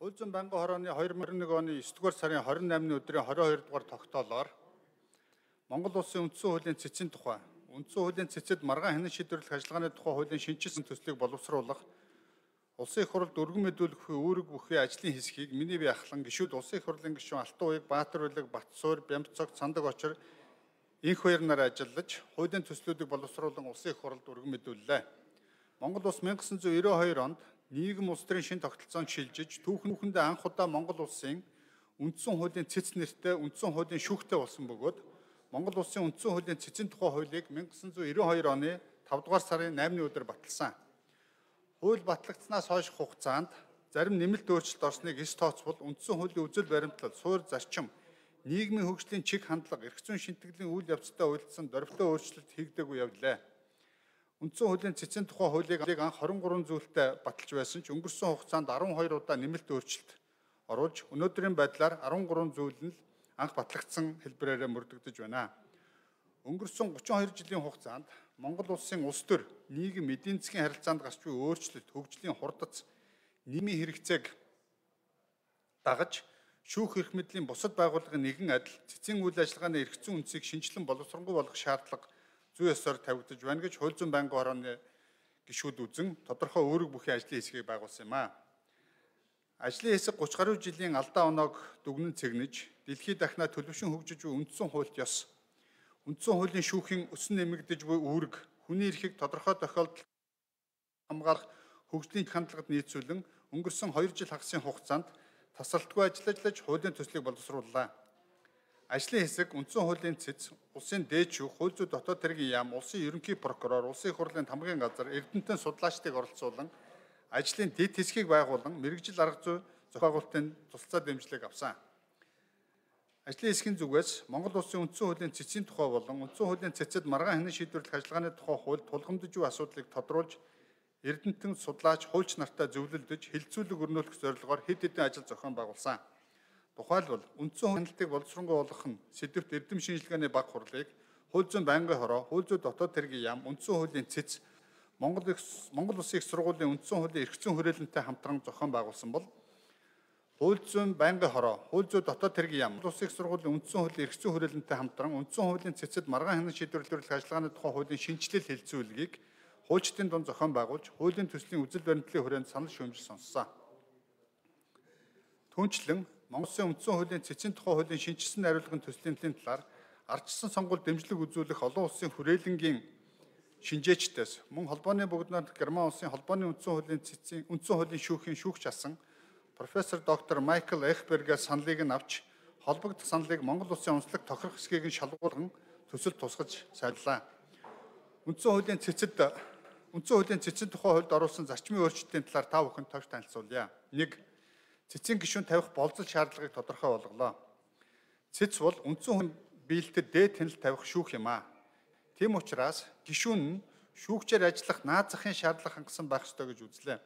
Хууль зүйн байнгын хорооны 2021 оны 9-р сарын 28-ны өдрийн 22 дугаар тогтоолоор Монгол Улсын үндсэн хуулийн цэцэн тухай, үндсэн хуулийн цэцэд маргаан хянан шийдвэрлэх ажиллагааны тухай хуулийн шинжилсэн төслийг боловсруулах, улсын их хурлд өргөн мэдүүлэх үүрэг бүхий ажлын хэсгийг миний бие ахлан гишүүд улсын их хурлын гишүүн Алтан уяг, Баатар улиг, Батсуур, Бямбцог, Цандаг очир инх хоёр нар ажиллаж хуулийн төслүүдийг боловсруулан улсын их хурлд өргөн мэдүүллээ. Монгол улс 1992 онд нийгэм улс төрийн шинэ тогтолцоонд шилжиж түүхэндээ анх удаа Монгол улсын үндсэн хуулийн цэц нэртэй үндсэн хуулийн шүүхтэй болсон бөгөөд Монгол улсын үндсэн хуулийн цэцэн тухай хуулийг 1992 оны 5 дугаар сарын 8-ны өдөр баталсан. Хууль батлагдсанаас хойш хугацаанд зарим нэмэлт өөрчлөлт орсныг эс тооцвол үндсэн хуулийн үзэл баримтлал, суурь зарчим, нийгмийн хөгжлийн чиг хандлага, эрх зүйн шинтгэлийн үйл явцтай уялдсан дөрвөлтөө өөрчлөлт хийгдээгүй явлаа. Үндсэн хуулийн цэцэн тухай хуулийг анх 23 зүйлтэй баталж байсан ч өнгөрсөн хугацаанд 12 удаа нэмэлт өөрчлөлт оруулж өнөөдрийн байдлаар 13 зүйл нь анх батлагдсан хэлбэрээр мөрдөгдөж байна. Өнгөрсөн 32 жилийн хугацаанд Монгол улсын улс төр, нийгэм, эдийн засгийн харилцаанд гарч буй өөрчлөлт, хөгжлийн хурдац, нийгмийн хэрэгцээг дагаж шүүх эрх мэдлийн бусад байгууллагын нэгэн адил цэцэн үйл ажиллагааны эрх зүйн үндсийг шинжилэн боловсронгуй болгох шаардлага зүй ёсоор тавигдаж байна гэж хууль зүйн байнгын хорооны гишүүд үзэн тодорхой үүрэг бүхий ажлын хэсгийг байгуулсан юм а. Ажлын хэсэг 30 гаруй жилийн алдаа оноог дүгнэн цэгнэж, дэлхийд дахнаа төлөвшин хөгжиж буй үндсэн хуульд ёс, үндсэн хуулийн шүүхийн өсөн нэмэгдэж буй үүрэг, хүний эрхийг тодорхой тохиолдолд хамгаалах хөгжлийн хандлагад нийцүүлэн өнгөрсөн 2 жил хагасын хугацаанд тасралтгүй ажиллаж хуулийн төслийг боловсрууллаа. Ажлын хэсэг үндсэн хуулийн цэц, улсын дээд шүүх, хууль зүйн дотоод хэргийн яам, улсын ерөнхий прокурор, улсын их хурлын хамгийн газар, эрдэмтэн судлаачдыг оролцуулан ажлын дэд хэсгийг байгуулан мэргэжил арга зүй зохиогуулалтын тусалцаа дэмжлэг авсан. Ажлын хэсгийн зүгээс Монгол Улсын үндсэн хуулийн цэцийн тухай болон үндсэн хуулийн цэцэд маргаан хянан шийдвэрлэх ажиллагааны тухай хууль тулгамдж буй асуудлыг тодруулж эрдэмтэн судлаач хуульч нартай зөвлөлдөж хилцүүлэг өрнүүлэх зорилгоор хэд хэдэн ажил зохион байгуулсан. Тухайлбал үндсэн хяналтыг боловсронгуй болгох нь сэдвт эрдэм шинжилгээний баг хурлыг хууль зүйн байнгын хороо, хууль зүйн дотоод хэргийн яам, үндсэн хуулийн цэц, Монгол Улсын их сургуулийн үндсэн хуулийн эрх зүйн хүрээлэнтэй хамтран зохион байгуулсан бол хууль зүйн байнгын хороо, хууль зүйн дотоод хэргийн яам, Монгол Улсын их сургуулийн үндсэн хуулийн эрх зүйн хүрээлэнтэй хамтран үндсэн хуулийн цэцэд маргаан хянан шийдвэрлэх ажиллагааны тухай хуулийн шинжилэл хэлцүүлгийг хуульчдын дунд зохион байгуулж, хуулийн төслийн үзэл баримтлалын хүрээнд санал шүүмжил сонссон. Түүнчлэн Монгол Улсын үндсэн хуулийн цэцэн тухай хуулийн шинжилсэн хариулгын төслийн талаар ардчилсан сонгуульд дэмжлэг үзүүлэх олон улсын хүрээлэнгийн шинжээчдээс мөн холбооны бүгд Герман улсын холбооны үндсэн хуулийн шүүхийн шүүгч асан профессор доктор Майкл Эхбергээс саналыг нь авч холбогдох саналыг Монгол Улсын онцлог тохирох хэсгийг нь шалгуулган төсөлд тусгаж сайжлаа. Үндсэн хуулийн цэцэн тухай хуульд оруулсан зарчмын өөрчлөлтийн талаар та бүхэнд товч танилцуулъя. 1. Цэцэн гишүүн тавих болцол шаардлагыг тодорхой болголоо. Цэц бол үндсэн хуулийн биелэлтэд дээд хяналт тавих шүүх юм а. Тийм учраас гишүүн нь шүүгчээр ажиллах наад захын шаардлага хангасан байх ёстой гэж үзлээ.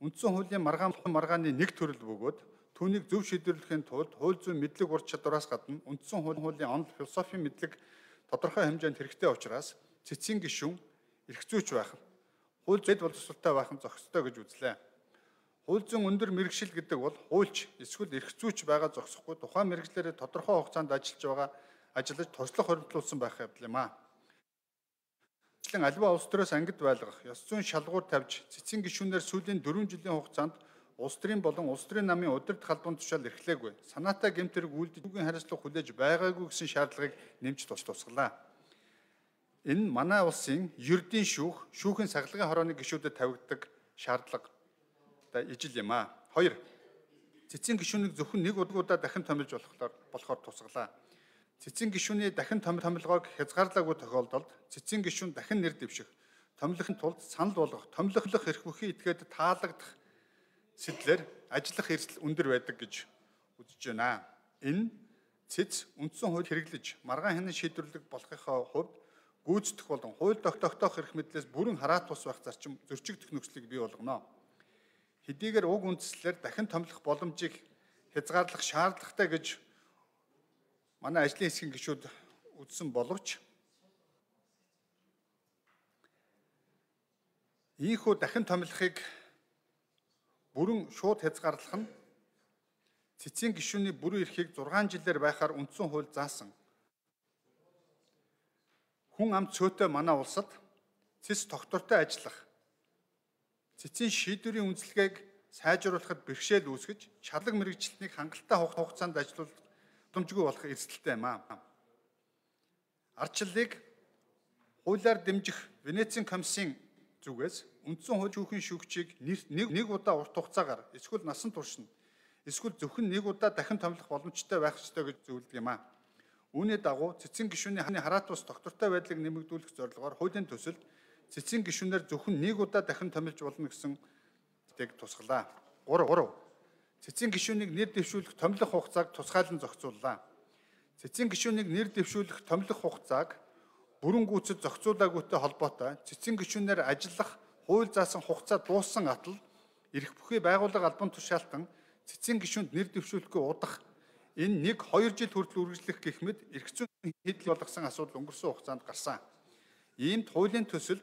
Үндсэн хуулийн маргааны нэг төрөл бөгөөд түүнийг зөв шийдвэрлэхийн тулд хууль зүйн мэдлэг ур чадвараас гадна үндсэн хуулийн онол философийн мэдлэг тодорхой хэмжээнд хэрэгтэй учраас цэцэн гишүүн эрх зүйч байх, хууль зүйд боловсролтой байх нь зохистой гэж үзлээ. Хууль зүйн өндөр мэргэшил гэдэг бол хуульч эсвэл эрх зүйч байгаа зогсохгүй тухайн мэргэжлэрээ тодорхой хугацаанд ажиллаж туршлага хоригдлуулсан байх явдал юм а. Аливаа улс төрөөс ангид байлгах, ёс зүйн шалгуур тавьж цэцэн гишүүнээр сүүлийн 4 жилийн хугацаанд улс төрийн болон улс төрийн намын удирдах албан тушаал эрхлээгүй, санаатай гэмтэрэг үйлдэж үгийн хариуцлага хүлээж байгаагүй гэсэн шаардлагыг нэмж тусгалаа. Энэ манай улсын ердийн шүүхийн сахилгын хорооны гишүүдэд тавигддаг шаардлагатай ижил юм а. 2. Цэцэн гишүүнийг зөвхөн нэг удаа дахин томилж болохоор тусгалаа. Цэцэн гишүүний дахин томилгоог хязгаарлаагүй тохиолдолд цэцэн гишүүн дахин нэр дэвших, томилохын тулд санал болгох, томилох эрх бүхий этгээд таалагдах сэтлэр ажиллах эрсдэл өндөр байдаг гэж үзэж байна. Энэ цэц үндсэн хууль хэрэглэж маргаан хянан шийдвэрлэх болохынхаа хувьд гүйцэтгэх болон хууль тогтоох эрх мэдлээс бүрэн хараат тус байх зарчим зөрчигдөх нөхцөлийг бий болгоно. Хэдийгээр уг үндслээр дахин томилох боломжийг хязгаарлах шаардлагатай гэж манай ажлын хэсгийн гишүүд үзсэн боловч ийхүү дахин томилохыг бүрэн шууд хязгаарлах нь цэцгийн гишүүний бүрэн эрхийг 6 жилээр байхаар үндсэн хууль заасан. Хүн ам цөөтэй манай улсад цэц тогтвортой ажиллах, цэцгийн шийдвэрийн үнэлгээг сайжруулахад бэрхшээл үүсгэж, шалаг мэрэгчлэлтнийг хангалттай хугацаанд ажиллуулах боломжгүй болох эрсдэлтэй юм аа. Ардчлалыг хуулиар дэмжих Венецийн комиссийн зүгээс үндсэн хууль шүүхийн шүүгчийг нэг удаа урт хугацаагаар эсвэл насан турш нь эсвэл зөвхөн нэг удаа дахин томилох боломжтой байх ёстой гэж зөвлөдөг юм аа. Үүний дагуу цэцгийн гишүүний хараат бус тогтвортой байдлыг нэмэгдүүлэх зорилгоор хуулийн төсөлд цэцгийн гишүүнээр зөвхөн нэг удаа дахин томилж болно гэсэн тийг тусгалаа. 3. Цэцгийн гишүүнийг нэр дэвшүүлэх томилох хугацааг тусгайлан зохицууллаа. Цэцгийн гишүүнийг нэр дэвшүүлэх томилох хугацааг бүрэн гүйцэд зохицуулаагүйтэй холбоотой цэцгийн гишүүнээр ажиллах хууль заасан хугацаа дууссан атал эрх бүхий байгууллага албан тушаалтан цэцгийн гишүүнд нэр дэвшүүлэхгүй удах энэ 1-2 жил хүртэл үргэлжлэх гэх мэт эрх зүйн хийдэл болгосон асуудал өнгөрсөн хугацаанд гарсан. Иймд хуулийн төсөлд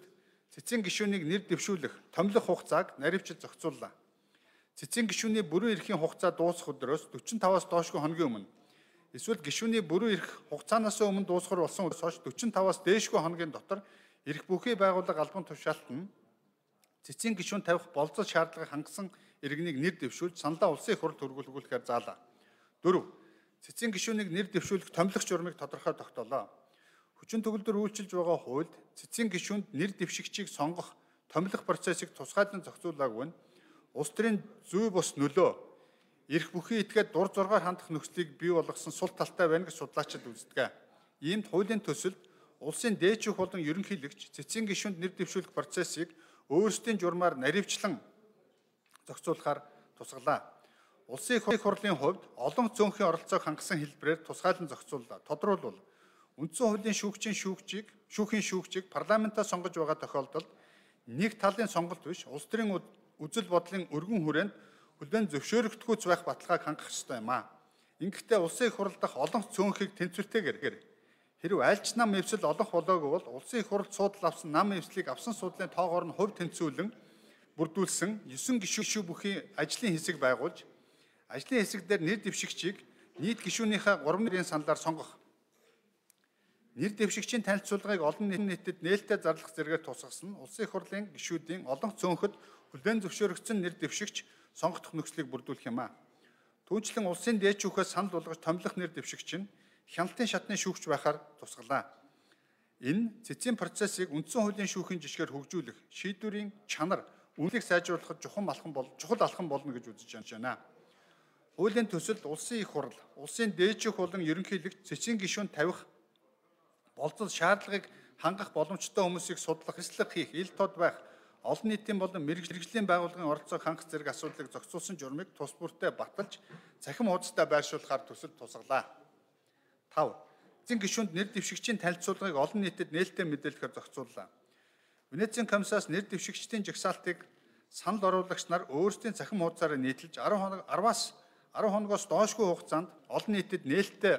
цэцгийн гишүүнийг нэр дэвшүүлэх томилох хугацааг наривчилж зохицууллаа. Цэцгийн гишүүний бүрэн эрхийн хугацаа дуусах өдрөөс 45-аас доошгүй хоногийн өмнө эсвэл гишүүний бүрэн эрх хугацаанаас өмнө дуусгар болсон үеэс хойш 45-аас дээшгүй хоногийн дотор эрх бүхий байгууллага албан тушаалтан цэцгийн гишүүн тавих болцол шаардлагыг хангасан иргэнийг нэр дэвшүүлж саналаа улсын их хурлд хүргүүлэхээр заалаа. 4. Цэцгийн гишүүнийг нэр дэвшүүлэх томилох журмыг тодорхой тогтоолоо. Хүчин төгөлдөр үйлчилж байгаа хуульд цэцгийн гишүүнд нэр дэвшигчийг сонгох томилох процессыг тусгайлан зохицуулаагүй нь улс төрийн зүй бус нөлөө эрх бүхий этгээд дур зоргоор хандах нөхцөлийг бий болгосон сул талтай байна гэж судлаачид үздэг. Иймд хуулийн төсөлд улсын дээд шүүх болон ерөнхийлөгч цэцгийн гишүүнд нэр дэвшүүлэх процессыг өөрсдийн журмаар наривчлан зохицуулахаар тусгалаа. Улсын их хурлын хувьд олон зөөнхийн оролцоог хангасан хэлбэрээр тусгайлан зохицууллаа. Тодорхойлбол үндсэн хуулийн шүүхийн шүүгчийг парламентаа сонгож байгаа тохиолдолд нэг талын сонголт биш улс төрийн үзэл бодлын өргөн хүрээнд хүлээн зөвшөөрөгдөхүйц байх баталгааг хангах ёстой юм аа. Ингэхдээ улсын их хурл дахь олон цөөнхийг тэнцвэртэйгээр хэрв альч нам эвсэл олох болоогүй бол улсын их хурлд суудал авсан нам эвслийг авсан суудлын тоогоор нь хувь тэнцвүүлэн бүрдүүлсэн 9 гишүү бүхий ажлын хэсэг байгуулж ажлын хэсэг дээр нэр дэвшигчийг нийт гишүүнийхээ 3 нэрийн саналаар сонгох. Нэр дэвшигчийн танилцуулгыг олон нийтэд нээлттэй зарлах зэрэгээр тусгасан улсын их хурлын гишүүдийн олон цөөнхөд хүлээн зөвшөөрөгдсөн нэр дэвшигч сонгох нөхцөлийг бүрдүүлэх юм аа. Түүнчлэн улсын дээд шүүхээс санал болгож томилох нэр дэвшигч нь хяналтын шатны шүүгч байхаар тусгалаа. Энэ цэцгийн процессыг үндсэн хуулийн шүүхийн жишгээр хөгжүүлэх, шийдвэрийн чанар, үнэлгээг сайжруулахад чухал алхам болно гэж үзэж байна. Хуулийн төсөлд улсын их хурл, улсын дээд шүүх болон ерөнхийлөгч цэцгийн гишүүнд тавих болцол шаардлагыг хангах боломжтой хүмүүсийг судлах, хэслэх хийх, ил тод байх, олон нийтийн болон мэргэжлийн байгууллагын оролцоог хангах зэрэг асуудлыг зохицуулсан журмыг тус бүртээ баталж, цахим хуудастай байршуулахаар төсөлд тусгалаа. 5. Цэцгийн гишүүнд нэр дэвшигчийн танилцуулгыг олон нийтэд нээлттэй мэдээлэхээр зохицууллаа. Венецийн комиссаас нэр дэвшигчдийн жагсаалтыг санал оруулагч нар өөрсдийн цахим хуудасаараа нийтэлж 10 хоногоос доошгүй хугацаанд олон нийтэд нээлттэй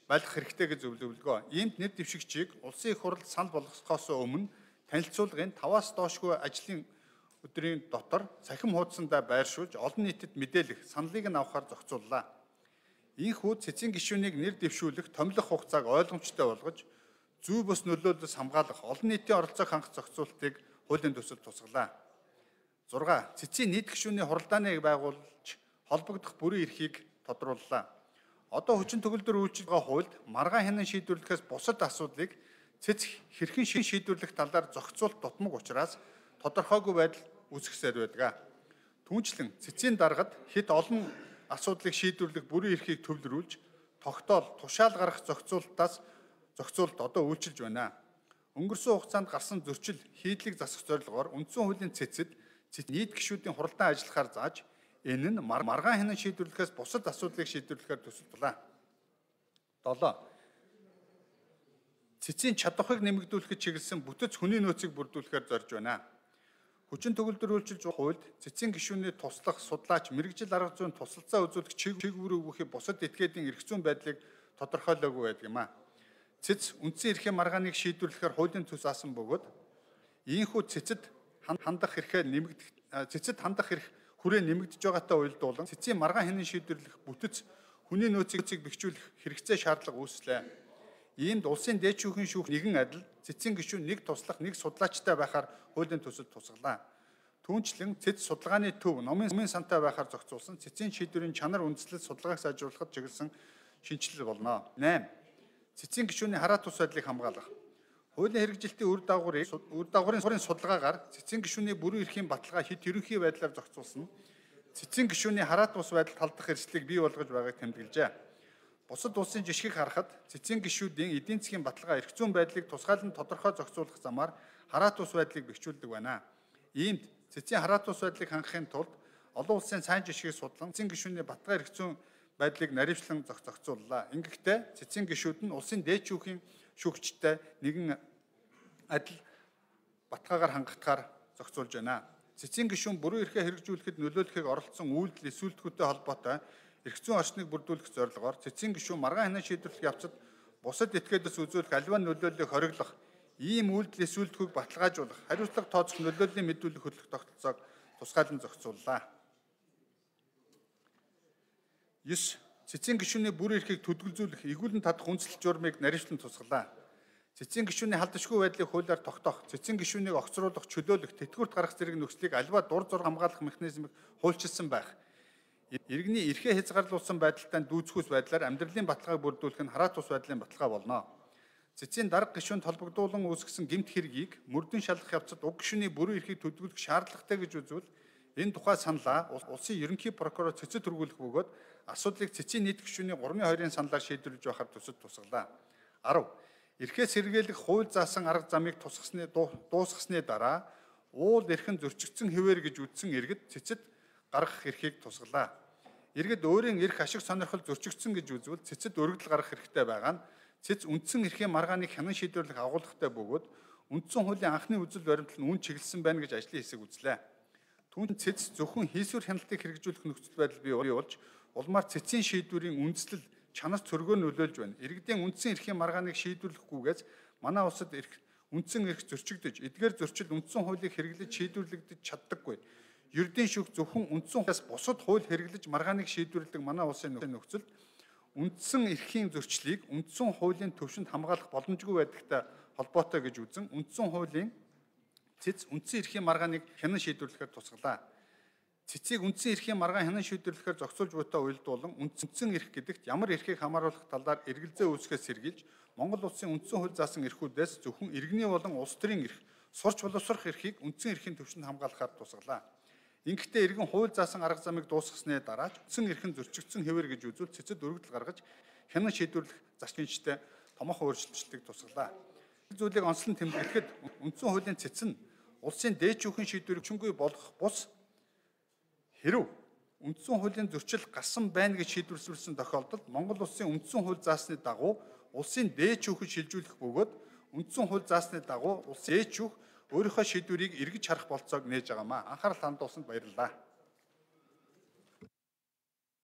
байлгах хэрэгтэй гэж зөвлөвлөгөө. Иймд нэр дэвшигчийг улсын их хурлд санал болгохоос өмнө танилцуулгын 5-аас доошгүй ажлын өдрийн дотор цахим хуудсандаа байршуулж олон нийтэд мэдээлэх, саналыг нь авахар зохицууллаа. Ийхүү цэцгийн гишүүнийг нэр дэвшүүлэх томилох хугацааг ойлгомжтой болгож зүй бус нөлөөлөлөөс хамгаалах олон нийтийн оролцоог хангах зохицуултыг хуулийн төсөлд тусгалаа. 6. Цэцгийн нийт гишүүний хуралдааныг байгуулж холбогдох бүрэн эрхийг тодрууллаа. Одоо хүчин төгөлдөр үйлчилж байгаа хуульд маргаан хянан шийдвэрлэхээс бусад асуудлыг цэц хэрхэн шийдвэрлэх талаар зохицуулт дутмаг учраас тодорхойгүй байдал үүсгэсээр байдаг. Түүнчлэн цэцгийн даргад хэд олон асуудлыг шийдвэрлэх бүрэн эрхийг төвлөрүүлж тогтоол тушаал гарах зохицуулт одоо үйлчилж байна. Өнгөрсөн хугацаанд гарсан зөрчил хийдлийг засах зорилгоор үндсэн хуулийн цэцэд нийт гишүүдийн хуралдаан ажиллахаар зааж энэ нь маргаан хянан шийдвэрлэхээс бусад асуудлыг шийдвэрлэхээр төсөлдлээ. 7. Цэцгийн чадварыг нэмэгдүүлэхэд чиглэсэн бүтэц хүний нөөцийг бүрдүүлэхээр зорж байна. Хүчин төгөлдөр үйлчилж байгаа хуульд цэцгийн гишүүний туслах, судлаач, мэрэгжил арга зүйн тусалцаа үзүүлэх чиглэл үүрэг бусад этгээдийн эрх зүйн байдлыг тодорхойлоогүй байдаг юм а. Цэц үндсэн эрхийн маргааныг шийдвэрлэхээр хуулийн төс заасан бөгөөд ийхүү цэцэд хандах эрх хүрээ нэмэгдэж байгаатай уялдуулан цэцгийн маргаан хянан шийдвэрлэх бүтэц хүний нөөцийг бэхжүүлэх хэрэгцээ шаардлага үүслээ. Иймд улсын дээдшүүхийн шүүх нэгэн адил, цэцгийн гишүүн нэг туслах, нэг судлаачтай байхаар хуулийн төсөлд тусгалаа. Түүнчлэн цэц судалгааны төв номын сантай байхаар зохицуулсан цэцгийн шийдвэрийн чанар үндэслэл судалгааг сайжруулахад чиглэсэн шинжилэл болно. 8. Цэцгийн гишүүний хараат ус байдлыг хамгаалах. Хуулийн хэрэгжилтийн үр дагаврын судалгаагаар цэцгийн гишүүний бүрэн эрхийн баталгаа хэд ерөнхий байдлаар зохицуулсан цэцгийн гишүүний хараат ус байдалд халдах эрсдлийг бий болгож байгааг тэмдэглэжээ. Бусад улсын жишгийг харахад цэцгийн гишүүдийн эдийн засгийн баталгаа эрх зүйн байдлыг тусгайлан тодорхой зохицуулах замаар хараат ус байдлыг бэхжүүлдэг байна. Иймд цэцгийн хараат ус байдлыг хангахын тулд олон улсын сайн жишгийг судлан цэцгийн гишүүний баталгаа эрх зүйн байдлыг наривчлан зохицууллаа. Ингэхдээ цэцгийн гишүүд нь улсын дээд шүүхийн шүүгчтэй нэгэн адил баталгаагаар хангахтаар зохицуулж байна. Цэцгийн гишүүн бүрэн эрхээ хэрэгжүүлэхэд нөлөөлөхийг оролцсон үйлдэл эсвэлтгүүтэй холбоотой эрх зүйн орчныг бүрдүүлэх зорилгоор цэцгийн гишүүн маргаан хянан шийдвэрлэх явцад бусад этгээдээс үзүүлэх аливаа нөлөөллийг хориглох, ийм үйлдэл эсвэлтгүүг баталгаажуулах, хариуцлага тооцох нөлөөллийн мэдүүлэг хөтлөх тогтолцоог тусгайлан зохицууллаа. 9. Цэцгийн гишүүний бүрэн эрхийг төдөлзүүлэх, игүүлэн татах үндсэл журмыг наривчлан тусгалаа. Цэцгийн гишүүний халдшгүй байдлыг хуулиар тогтоох, цэцгийн гишүүнийг огцруулах, чөлөөлөх, тэтгэврт гаргах зэрэг нөхцөлийг аливаа дур зориг хамгаалах механизмыг хуульчилсан байх. Иргэний эрхээ хязгаарлуулсан байдалтай дүүцхүүс байдлаар амьдралын баталгааг бүрдүүлэх нь хараат ус байдлын баталгаа болно. Цэцгийн дарга гишүүнд холбогдуулан үүсгэсэн гэмт хэргийг мөрдөн шалгах явцад уг гишүүний бүрэн эрхийг төдөлгөх шаардлагатай гэж үзвэл энэ тухай саналаа улсын ерөнхий прокурор цэцэд хүргүүлэх бөгөөд асуудлыг цэцгийн нийт гишүүний 3-2-ын саналаар шийдвэрлэж байхаар төсөд тусгалаа. 10. Эрхээ сэргийлэх хууль заасан арга замыг дуусгасны дараа уул эрхэн зөрчигдсөн хэвээр гэж үзсэн иргэд цэцэд гаргах эрхийг тусгалаа. Иргэд өөрийн эрх ашиг сонирхол зөрчигдсөн гэж үзвэл цэцэд өргөдөл гаргах хэрэгтэй байгаа нь цэц үндсэн эрхийн маргааныг хянан шийдвэрлэх агуулгатай бөгөөд үндсэн хуулийн анхны үзэл баримтал нь үн чиглэсэн байна гэж ажлын хэсэг үзлээ. Түүнд цэц зөвхөн хийсвэр хяналтыг хэрэгжүүлэх нөхцөл байдал бий болж улмаар цэцгийн шийдвэрийн үндэслэл чанар цөргөөр нөлөөлж байна. Иргэдийн үндсэн эрхийн маргааныг шийдвэрлэхгүйгээс манай улсад үндсэн эрх зөрчигдөж, эдгээр зөрчил үндсэн хуулийг хэрэглэж шийдвэрлэгдэж чаддаггүй. Ердийн шүүх зөвхөн үндсэн хуулиас бусад хууль хэрэглэж маргааныг шийдвэрлэдэг манай улсын нөхцөлд үндсэн эрхийн зөрчлийг үндсэн хуулийн төвшөнд хамгаалах боломжгүй байдагтай холбоотой гэж үзэн үндсэн хуулийн цэц үндсэн эрхийн маргааныг хянан шийдвэрлэхээр тусгалаа. Цэцийг үндсэн эрхийн маргаан хянан шийдвэрлэхээр зохицуулж буйтай уялдуулан үндсэн эрх гэдэгт ямар эрхийг хамааруулах талаар эргэлзээ үүсгээс сэргийлж Монгол улсын үндсэн хууль заасан эрхүүдээс зөвхөн иргэний болон улс төрийн эрх, сурч боловсрох эрхийг үндсэн эрхийн төвшөнд хамгаалахаар тусгалаа. Ингэхдээ иргэн хууль заасан арга замыг дуусгасны дараа үндсэн эрхэн зөрчигдсөн хэвээр гэж үзвэл цэцэд өргөдөл гаргаж хянан шийдвэрлэх зарчимчтай томоохон өөрчлөлтийг тусгалаа. Зүйлийг онцлон тэмдэглэхэд үндсэн хуулийн цэц нь улсын дээд шүүхийн шийдвэрийг хүчингүй болгох бус хэрв үндсэн хуулийн зөрчил гарсан байна гэж шийдвэрлсэн тохиолдолд Монгол улсын үндсэн хууль заасны дагуу улсын дээд шүүхэд шилжүүлэх бөгөөд үндсэн хууль заасны дагуу улсын дээд шүүх өөрийнхөө шийдвэрийг эргэж харах болцоог нээж байгаамаа. Анхаарал хандуулсанд баярлалаа.